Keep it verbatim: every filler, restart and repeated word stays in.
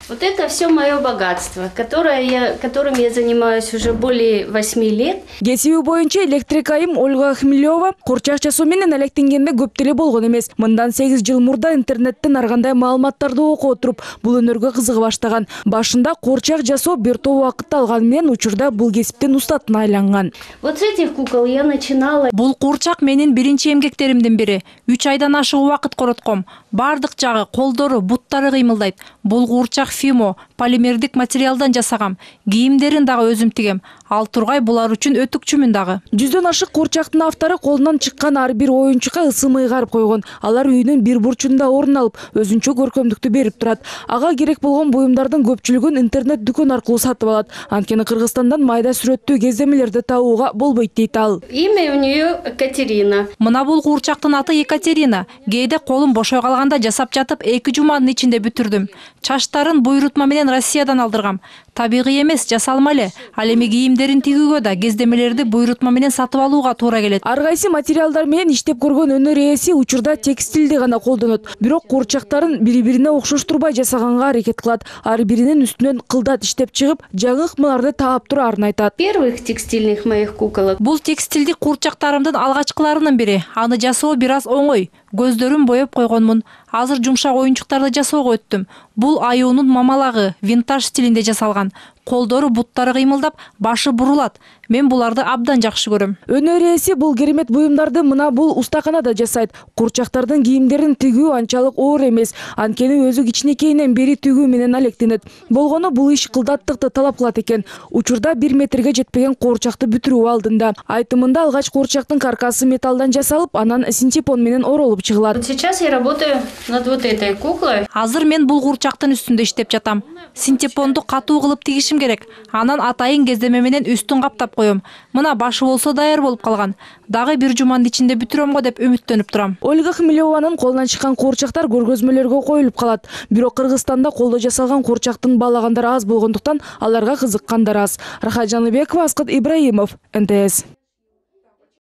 Вот это все мое богатство, которое я, которым я занимаюсь уже более восьми лет. Кесиби боюнча электрик айым Ольга Хмелева курчак жасоо менен алектенгенде көп деле болгон эмес. Мындан сегиз жыл мурда интернеттен ар кандай маалыматтарды окуп отуруп, бул өнөргө кызыга баштаган. Башында курчак жасоо бир топ убакытты алганы менен учурда бул кесиптин устатына айланган. Вот с этих кукол я начинала. Бул курчак менин биринчи эмгектеримдин бири. үч айдан ашык убакыт коротком. Бардык жагы, колдору, буттары кыймылдайт. Бул курчак фимо, полимердик материалдан жасагам. Кийимдерин дагы өзүм тигем. Ал тургай булар үчүн өтүкчүмүн дагы. Жүздөн ашык курчактын автору колунан чыккан ар бир оюнчукка ысым ыйгарып койгон. Алар үйүнүн бир бурчунда орун алып, өзүнчө көркөмдүктү берип турат. Ага керек болгон буюмдардын көпчүлүгүн интернет дүкөн аркылуу сатып алат. Анткени Кыргызстандан майда сүрөттүү кездемелерди табууга болбойт дейт ал. Имя у нее Екатерина. Мына бул курчактын аты Екатерина. Кээде колум бошой калганда жасап жатып эки жуманын ичинде бүтүрдүм. Чачтарын буйрутма менен Россиядан алдыргам. Табигый эмес, жасалма эле. Ал эми кийимдерин тигүүгө да кездемелерди буйрутма менен сатып алууга туура келет. Ар кайсы материалдар менен иштеп көргөн өнөр ээси учурда текстилди гана колдонот. Бирок курчактарын бири-бирине окшоштурбай жасаганга аракет кылат. Ар биринин үстүнөн кылдат иштеп чыгып, жаңы ыкмаларды таап турарын айтат. Первых текстильных моих куколок. Бул текстилдик курчактарымдын алгачкыларынын бири. Аны жасоо бир аз оңой. Көздөрүн боеп койгонмун. Азыр жумшак оюнчуктарды жасоого өттүм. Бул аюунун мамалагы, винтаж стилинде жасалган. Колдору, буттары кыймылдап, башы бурулат. Мен буларды абдан жакшы көрөм. Өнөр ээси бул керемет буюмдарды мына бул устаканада жасайт. Курчактардын кийимдерин тигүү анчалык оор эмес. Анткени өзү кичинекейинен бери тигүү менен алектенет. Болгону бул иш кылдаттыкты талап кылат экен. Учурда бир метрге жетпеген курчакты бүтүрүү алдында. Айтымында алгач курчактын каркасы металлдан жасалып, анан синтепон менен оролуп чыгылат. Сейчас я работаю над вот этой куклой. Азыр мен бул курчактын үстүндө иштеп жатам. Синтепонду катуу кылып тигишим керек. Анан атайын кездеме менен үстүн каптап коем. Мына башы болсо даяр болуп калган. Дагы бир жуманын ичинде бүтүрөм го деп үмүттөнүп турам. Ольга Хмелеванын колунан чыккан курчактар көргөзмөлөргө коюлуп калат. Бирок Кыргызстанда колдо жасалган курчактын баалагандары аз болгондуктан аларга кызыккандар аз. Рахат Жаныбекова, Аскат Ибраимов, эн тэ эс.